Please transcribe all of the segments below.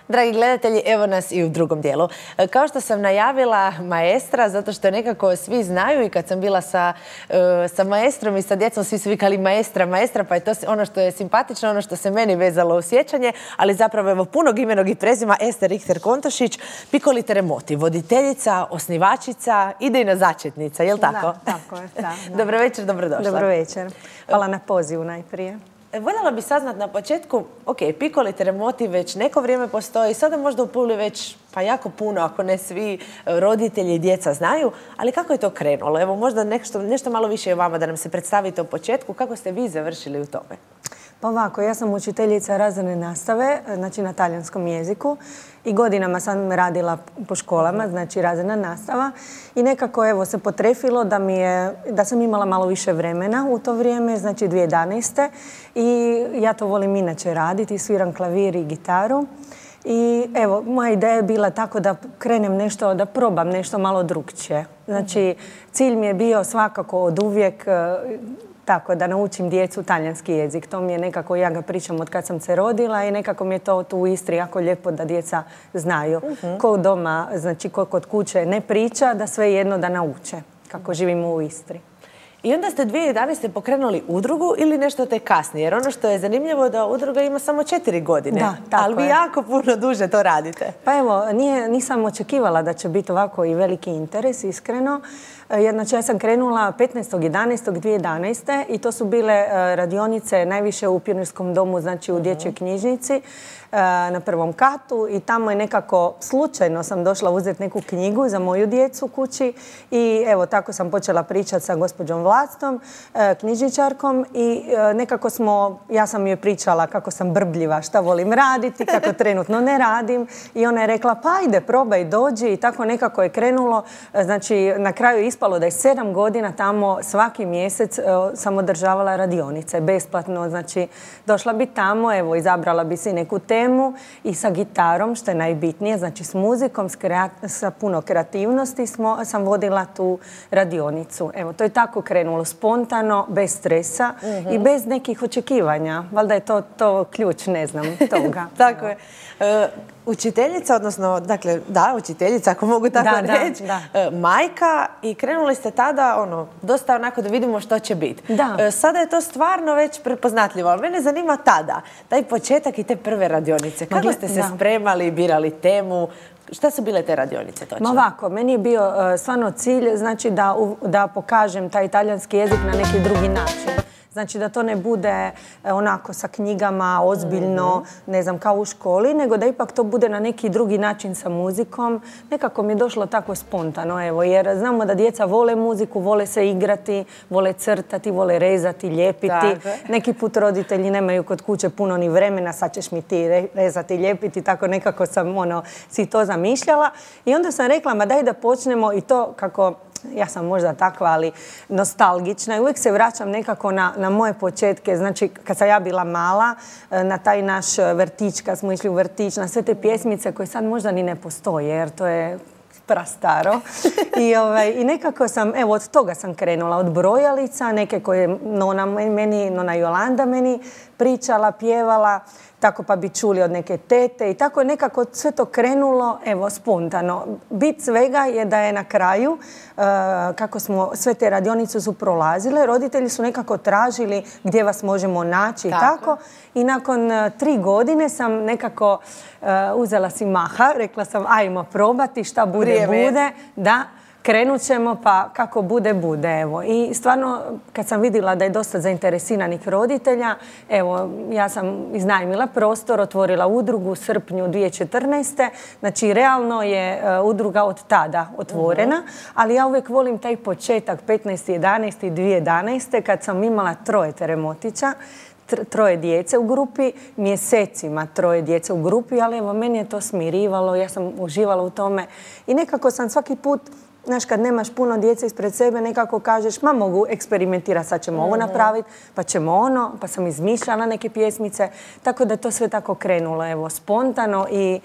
Dragi gledatelji, evo nas i u drugom dijelu. Kao što sam najavila, maestra, zato što nekako svi znaju i kad sam bila sa maestrom i sa djecom, svi su vikali maestra, maestra, pa je to ono što je simpatično, ono što se meni vezalo u sjećanje, ali zapravo evo punog imenog i prezima Ester Richter-Kontošić, Piccoli Teremoti, voditeljica, osnivačica, idejna začetnica, je li tako? Da, tako je. Da. Dobro večer, dobrodošla. Dobro večer. Hvala na pozivu najprije. Voljela bi saznat na početku, ok, Piccoli Teremoti već neko vrijeme postoji, sada možda u Puli već pa jako puno, ako ne svi roditelji i djeca znaju, ali kako je to krenulo? Evo možda nešto malo više o vama da nam se predstavite u početku, kako ste vi završili u tome? Pa ovako, ja sam učiteljica razredne nastave, znači na talijanskom jeziku i godinama sam radila po školama, znači razredna nastava i nekako evo se potrefilo da sam imala malo više vremena u to vrijeme, znači 2011. I ja to volim inače raditi, sviram klavir i gitaru. I evo, moja ideja je bila tako da krenem nešto, da probam nešto malo drukčije. Znači, cilj mi je bio svakako od uvijek tako da naučim djecu talijanski jezik. To mi je nekako, ja ga pričam od kad sam se rodila i nekako mi je to tu u Istri jako lijepo da djeca znaju. Ko doma, znači ko kod kuće ne priča, da sve jedno da nauče kako živimo u Istri. I onda ste 2011. pokrenuli udrugu ili nešto te kasnije? Jer ono što je zanimljivo da udruga ima samo 4 godine. Da, tako ali vi jako puno duže to radite. Pa evo, nisam očekivala da će biti ovako i veliki interes, iskreno. Znači, ja sam krenula 15.11.2011. i to su bile radionice najviše u Pionirskom domu, znači u dječjoj knjižnici na prvom katu i tamo je nekako slučajno sam došla uzeti neku knjigu za moju djecu kući i evo tako sam počela pričati sa gospođom Vlastom, knjižničarkom i nekako ja sam joj pričala kako sam brbljiva, šta volim raditi, kako trenutno ne radim i ona je rekla pa ajde probaj, dođi i tako nekako je krenulo. Znači na kraju je ispalo da je 7 godina tamo svaki mjesec sam održavala radionice besplatno, znači došla bi tamo, evo izabrala bi si neku temu i sa gitarom, što je najbitnije, znači s muzikom, sa puno kreativnosti sam vodila tu radionicu. Evo, to je tako krenulo, spontano, bez stresa i bez nekih očekivanja. Valjda je to ključ, ne znam, toga. Tako je. Učiteljica, odnosno, dakle, da, učiteljica, ako mogu tako reći, majka i krenuli ste tada, dosta onako da vidimo što će biti. Sada je to stvarno već prepoznatljivo, ali mene zanima tada, taj početak i te prve radionice. Kako ste se spremali, birali temu? Šta su bile te radionice točno? Ovako, meni je bio stvarno cilj, znači da pokažem taj talijanski jezik na neki drugi način. Znači da to ne bude onako sa knjigama, ozbiljno, ne znam, kao u školi, nego da ipak to bude na neki drugi način sa muzikom. Nekako mi je došlo tako spontano, evo, jer znamo da djeca vole muziku, vole se igrati, vole crtati, vole rezati, lijepiti. Neki put roditelji nemaju kod kuće puno ni vremena, sad ćeš mi ti rezati, lijepiti, tako nekako sam si to zamišljala. I onda sam rekla, ma daj da počnemo i to kako... Ja sam možda takva, ali nostalgična i uvijek se vraćam nekako na moje početke. Znači, kad sam ja bila mala, na taj naš vrtić, kad smo išli u vrtić, na sve te pjesmice koje sad možda ni ne postoje, jer to je prastaro. I nekako sam, evo, od toga sam krenula, od brojalica, neke koje nona Jolanda meni pričala, pjevala, tako pa bi čuli od neke tete i tako je nekako sve to krenulo, evo, spontano. Bit svega je da je na kraju, kako smo sve te radionice su prolazile, roditelji su nekako tražili gdje vas možemo naći i tako. I nakon 3 godine sam nekako uzela si maha, rekla sam ajmo probati, šta bude, bude. Da. Krenut ćemo pa kako bude, bude. Evo. I stvarno kad sam vidjela da je dosta zainteresiranih roditelja, evo, ja sam iznajmila prostor, otvorila udrugu u srpnju 2014. Znači realno je udruga od tada otvorena, ali ja uvijek volim taj početak 15.11.2011. kad sam imala 3 teremotića, 3 djece u grupi, mjesecima 3 djece u grupi, ali evo, meni je to smirivalo, ja sam uživala u tome i nekako sam svaki put, znaš, kad nemaš puno djece ispred sebe, nekako kažeš, ma mogu eksperimentirati, sad ćemo ovo napraviti, pa ćemo ono, pa sam izmišljala neke pjesmice, tako da je to sve tako krenulo, evo, spontano i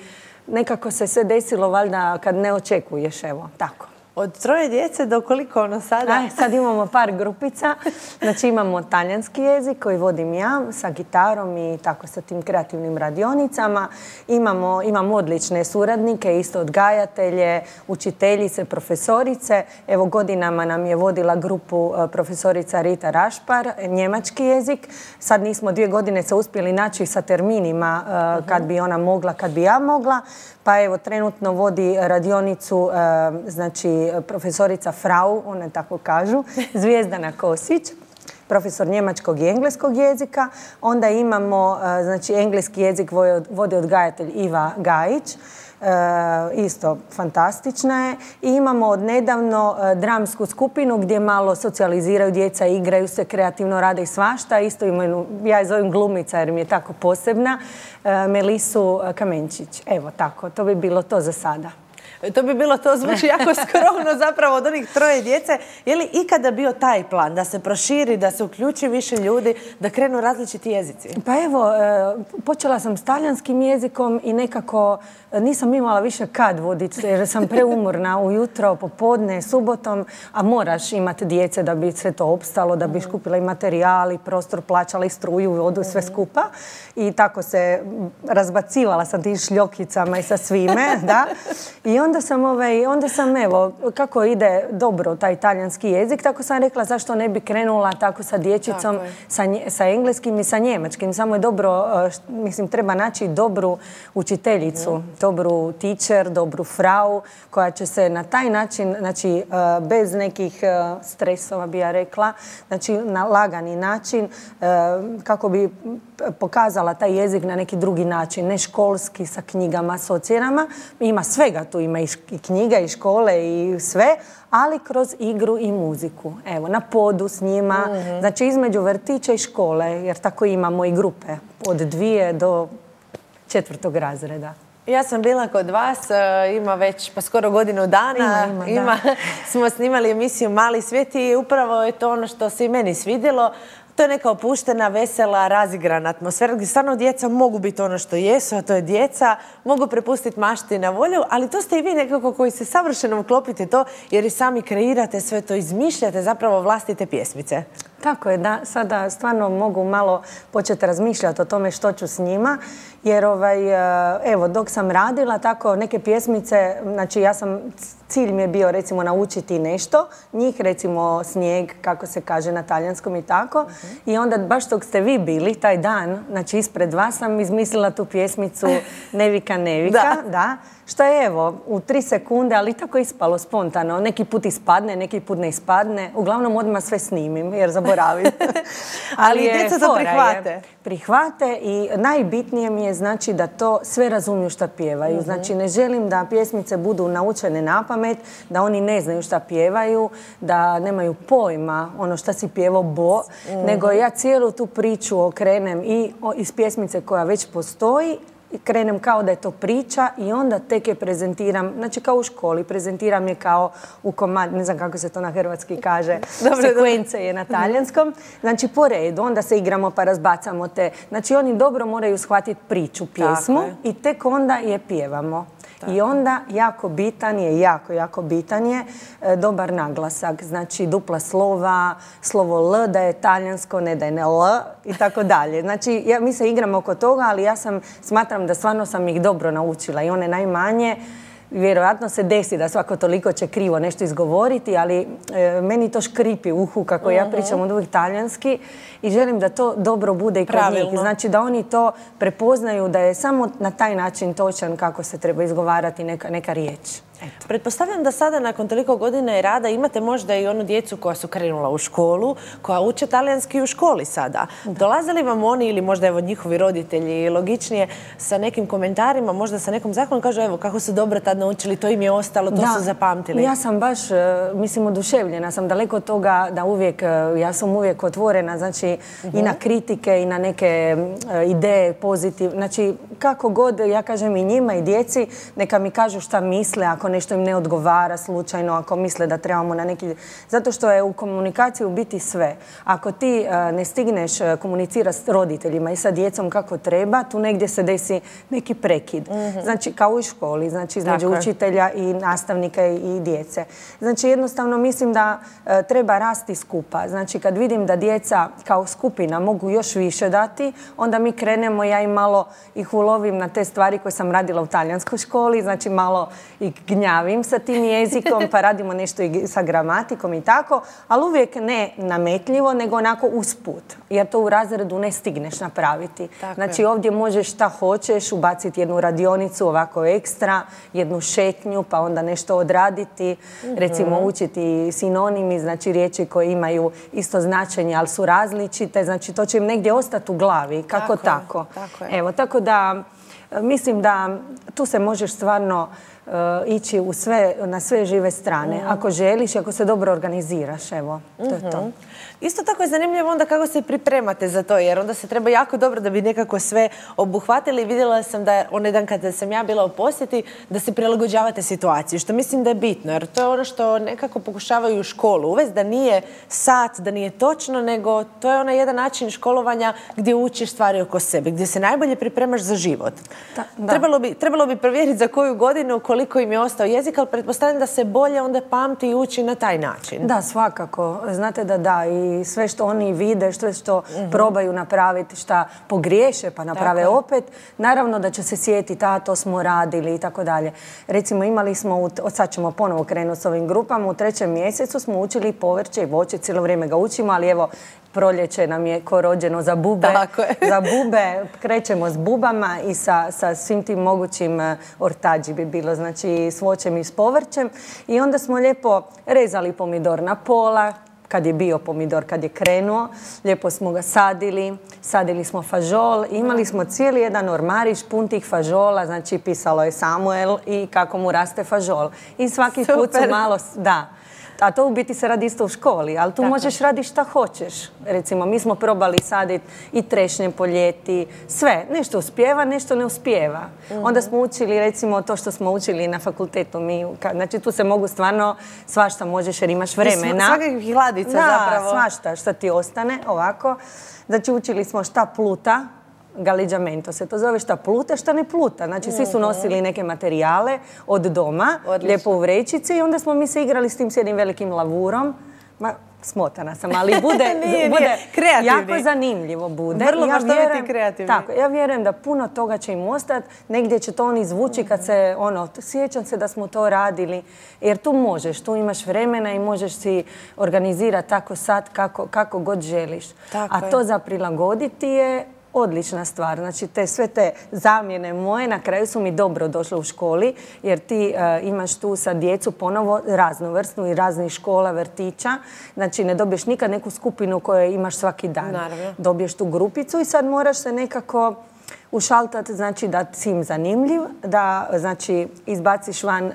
nekako se sve desilo, valjda, kad ne očekuješ, evo, tako. Od 3 djece do koliko ono sada? Sad imamo par grupica. Znači imamo talijanski jezik koji vodim ja sa gitarom i tako sa tim kreativnim radionicama. Imamo odlične suradnike, isto odgajatelje, učiteljice, profesorice. Evo godinama nam je vodila grupu profesorica Rita Rašpar, njemački jezik. Sad nismo 2 godine se uspjeli naći sa terminima kad bi ona mogla, kad bi ja mogla. Pa evo, trenutno vodi radionicu, znači, profesorica Frau, one tako kažu, Zvijezdana Kosić, profesor njemačkog i engleskog jezika. Onda imamo, znači, engleski jezik vodi odgajatelj Iva Gajić, isto fantastična je. I imamo odnedavno dramsku skupinu gdje malo socijaliziraju djeca, igraju se, kreativno rade i svašta. Isto imaju, ja je zovem glumica jer mi je tako posebna, Melisu Kamenčić. Evo tako, to bi bilo to za sada. To bi bilo to, zvuči jako skromno zapravo od onih 3 djece. Je li ikada bio taj plan da se proširi, da se uključi više ljudi, da krenu različiti jezici? Pa evo, počela sam s talijanskim jezikom i nekako nisam imala više kad voditi jer sam preumorna ujutro, popodne, subotom, a moraš imati djece da bi sve to opstalo, da bi kupila i materijal i prostor, plaćala i struju, vodu, sve skupa. I tako se razbacivala sa tim šljokicama i sa svime, da. I onda sam, evo, kako ide dobro taj talijanski jezik, tako sam rekla zašto ne bi krenula tako sa dječicom, sa engleskim i sa njemačkim. Samo je dobro, mislim, treba naći dobru učiteljicu, dobru teacher, dobru frau, koja će se na taj način, znači, bez nekih stresova, bi ja rekla, znači, na lagani način, kako bi pokazala taj jezik na neki drugi način, ne školski, sa knjigama, s ocjenama. Ima svega tu, ima i knjiga i škole i sve, ali kroz igru i muziku. Evo, na podu s njima, znači između vrtića i škole, jer tako imamo i grupe od 2 do 4. razreda. Ja sam bila kod vas, ima već pa skoro godinu dana, smo snimali emisiju Mali svijet i upravo je to ono što se i meni svidjelo. To je neka opuštena, vesela, razigrana atmosfera gdje stvarno djeca mogu biti ono što jesu, a to je djeca, mogu prepustiti mašti na volju, ali to ste i vi nekako koji se savršeno uklopite to jer i sami kreirate sve to, izmišljate zapravo vlastite pjesmice. Tako je, da, sada stvarno mogu malo početi razmišljati o tome što ću s njima, jer evo, dok sam radila tako neke pjesmice, znači cilj mi je bio recimo naučiti nešto, njih recimo Snijeg, kako se kaže na talijanskom i tako, i onda baš dok ste vi bili taj dan, znači ispred vas sam izmislila tu pjesmicu Nevika, Nevika, da. Što je evo, u 3 sekunde, ali tako ispalo spontano. Neki put ispadne, neki put ne ispadne. Uglavnom odmah sve snimim jer zaboravim. Ali djeca to prihvate. Prihvate i najbitnije mi je znači da to sve razumiju šta pjevaju. Znači ne želim da pjesmice budu naučene napamet, da oni ne znaju šta pjevaju, da nemaju pojma ono šta si pjevao Bo, nego ja cijelu tu priču okrenem i iz pjesmice koja već postoji, krenem kao da je to priča i onda tek je prezentiram, znači kao u školi, prezentiram je kao u komad, ne znam kako se to na hrvatski kaže, sekvence je na talijanskom, znači po redu, onda se igramo pa razbacamo te, znači oni dobro moraju shvatiti priču, pjesmu i tek onda je pjevamo. I onda jako bitan je dobar naglasak, znači dupla slova, slovo L da je talijansko, ne da je ne L i tako dalje. Znači mi se igramo oko toga, ali ja smatram da stvarno sam ih dobro naučila i one najmanje. Vjerojatno se desi da svako toliko će krivo nešto izgovoriti, ali meni to škripi u uhu kako ja pričam od uvijek talijanski i želim da to dobro bude i kod njih. Znači da oni to prepoznaju da je samo na taj način točan kako se treba izgovarati neka riječ. Pretpostavljam da sada nakon toliko godina i rada imate možda i onu djecu koja su krenula u školu, koja uče talijanski u školi sada. Dolaze li vam oni ili možda evo njihovi roditelji logičnije sa nekim komentarima, možda sa nekom zakonom, kažu evo kako su dobro tad naučili, to im je ostalo, to su zapamtili? Ja sam baš, mislim, oduševljena sam daleko od toga da ja sam uvijek otvorena, znači i na kritike i na neke ideje pozitivne. Znači kako god, ja kažem i njima i djeci, neka mi kažu šta misle, ako nešto im ne odgovara slučajno, ako misle da trebamo na neki... Zato što je u komunikaciji u biti sve. Ako ti ne stigneš komunicirati s roditeljima i sa djecom kako treba, tu negdje se desi neki prekid. Znači, kao i školi, znači između učitelja i nastavnika i djece. Znači, jednostavno mislim da treba rasti skupa. Znači, kad vidim da djeca kao skupina mogu još više dati, onda mi krenemo, ja im malo ih ulovim na te stvari koje sam radila u talijanskoj školi, znači malo ih gnjavim sa tim jezikom, pa radimo nešto i sa gramatikom i tako, ali uvijek ne nametljivo, nego onako usput, jer to u razredu ne stigneš napraviti. Znači, ovdje možeš šta hoćeš, ubaciti jednu radionicu ovako ekstra, jednu šetnju, pa onda nešto odraditi, recimo učiti sinonimi, znači riječi koje imaju isto značenje, ali su različite, znači to će im negdje ostati u glavi, kako tako. Evo, tako da mislim da tu se možeš stvarno ići na sve žive strane. Ako želiš i ako se dobro organiziraš, evo, to je to. Isto tako je zanimljivo onda kako se pripremate za to, jer onda se treba jako dobro da bi nekako sve obuhvatili. Vidjela sam da onaj dan kada sam ja bila u posjeti, da se prilagođavate situaciji, što mislim da je bitno, jer to je ono što nekako pokušavaju u školu uvesti, da nije sat, da nije točno, nego to je onaj jedan način školovanja gdje učiš stvari oko sebe, gdje se najbolje pripremaš za život. Trebalo bi provjeriti za koju godinu, koliko im je ostao jezik, ali pretpostavljam da se bolje onda pamti i uči na taj način. Da, svakako. Znate da i sve što oni vide, sve što probaju napraviti, šta pogriješe pa naprave opet, naravno da će se sjetiti, a to smo radili i tako dalje. Recimo, imali smo, sad ćemo ponovo krenuti s ovim grupama, u 3. mjesecu smo učili povrće i voće, cijelo vrijeme ga učimo, ali evo, proljeće nam je ko rođeno za bube. Za bube krećemo s bubama i sa svim tim mogućim ortađi bi bilo, znači s voćem i s povrćem. I onda smo lijepo rezali pomidor na pola, kad je bio pomidor, kad je krenuo. Lijepo smo ga sadili smo fažol. Imali smo cijeli jedan ormarić pun tih fažola, znači pisalo je Samuel i kako mu raste fažol. I svaki put su malo... Da. A to u biti se radi isto u školi, ali tu možeš raditi šta hoćeš. Recimo, mi smo probali saditi i trešnje po ljeti, sve. Nešto uspijeva, nešto ne uspijeva. Onda smo učili, recimo, to što smo učili na fakultetu. Znači, tu se mogu stvarno svašta možeš jer imaš vremena. Svakakvih hladica zapravo. Da, svašta šta ti ostane, ovako. Znači, učili smo šta pluta, galiđamento se to zove, šta pluta, šta ne pluta. Znači, svi su nosili neke materijale od doma, lijepo u vrećici i onda smo mi se igrali s tim s jednim velikim lavurom. Smotana sam, ali bude jako zanimljivo bude. Vrlo možda biti kreativni. Tako, ja vjerujem da puno toga će im ostati, negdje će to on izvući kad se, sjećam se da smo to radili, jer tu možeš, tu imaš vremena i možeš si organizirati tako sad kako god želiš. A to za prilagoditi je odlična stvar. Znači, sve te zamjene moje na kraju su mi dobro došle u školi, jer ti imaš tu sa djecu ponovo raznovrsnu i raznih škola, vrtića. Znači, ne dobiješ nikad neku skupinu koju imaš svaki dan. Dobiješ tu grupicu i sad moraš se nekako ušaltati, znači da si im zanimljiv, da znači izbaciš van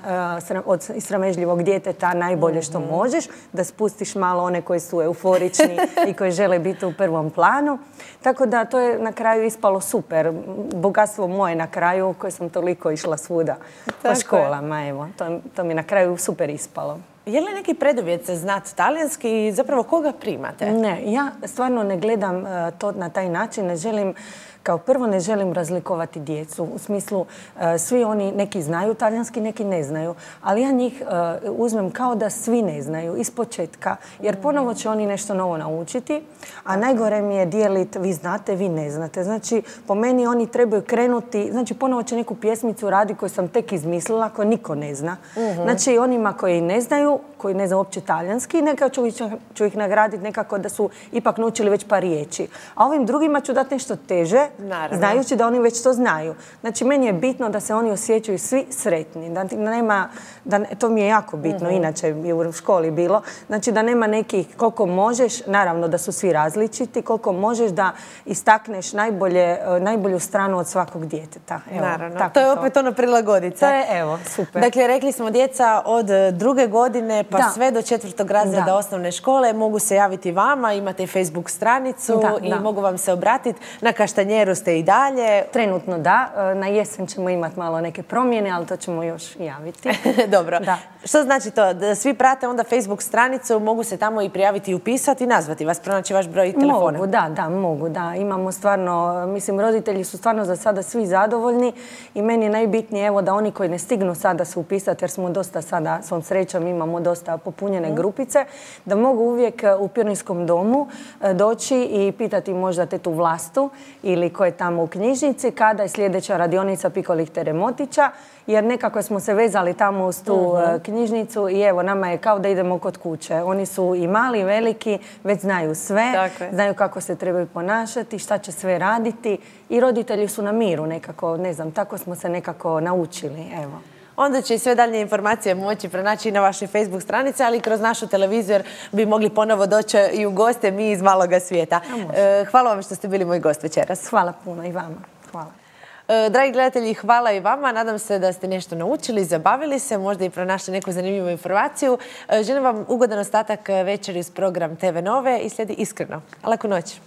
od sramežljivog djeteta najbolje što možeš, da spustiš malo one koji su euforični i koji žele biti u prvom planu. Tako da to je na kraju ispalo super. Bogatstvo moje na kraju koje sam toliko išla svuda po školama. Evo, to mi je na kraju super ispalo. Je li neki preduvjet za znati talijanski i zapravo koga primate? Ne, ja stvarno ne gledam to na taj način, kao prvo ne želim razlikovati djecu. U smislu, svi oni neki znaju talijanski, neki ne znaju. Ali ja njih uzmem kao da svi ne znaju, iz početka. Jer ponovo će oni nešto novo naučiti. A najgore mi je dijeliti, vi znate, vi ne znate. Znači, po meni oni trebaju krenuti, znači ponovo će neku pjesmicu raditi koju sam tek izmislila, koju niko ne zna. Znači, onima koji ne znaju uopće talijanski, nekako ću ih nagraditi nekako da su ipak naučili već par riječi. A ovim drugima ću dati nešto teže, znajući da oni već to znaju. Znači, meni je bitno da se oni osjećaju svi sretni. To mi je jako bitno, inače je u školi bilo. Znači, da nema nekih, koliko možeš, naravno da su svi različiti, koliko možeš da istakneš najbolju stranu od svakog djeteta. Naravno, to je opet ono prilagoditi. To je, evo, super. Dakle, rekli smo djeca od 2. godine pa sve do 4. razreda osnovne škole mogu se javiti vama, imate i Facebook stranicu i mogu vam se obratiti na Kaštanjeru smjeru ste i dalje? Trenutno da. Na jesen ćemo imati malo neke promjene, ali to ćemo još javiti. Dobro. Što znači to? Da svi prate onda Facebook stranicu, mogu se tamo i prijaviti i upisati i nazvati vas, pronaći vaš broj telefona? Mogu, da. Imamo stvarno, mislim, roditelji su stvarno za sada svi zadovoljni i meni je najbitnije, evo, da oni koji ne stignu sada se upisati, jer smo dosta sada, svom srećom, imamo dosta popunjene grupice, da mogu uvijek u Pirinskom domu doći i pitati možda tetu Vlastu ili ko je tamo u knjižnici kada je sljedeća radionica Piko Lichtere Motića, jer nekako smo se vezali tamo uz tu knjižnicu i evo, nama je kao da idemo kod kuće. Oni su i mali i veliki, već znaju sve, znaju kako se trebaju ponašati, šta će sve raditi i roditelji su na miru nekako, ne znam, tako smo se nekako naučili, evo. Onda će i sve dalje informacije moći pronaći i na vašoj Facebook stranici, ali i kroz našu televiziju jer bi mogli ponovo doći i u goste mi iz maloga svijeta. Hvala vam što ste bili moj gost večeras. Hvala puno i vama. Hvala. Dragi gledatelji, hvala i vama. Nadam se da ste nešto naučili, zabavili se, možda i pronašli neku zanimljivu informaciju. Želim vam ugodan ostatak večeri uz program TV Nove i slijedi Iskreno. Laku noć.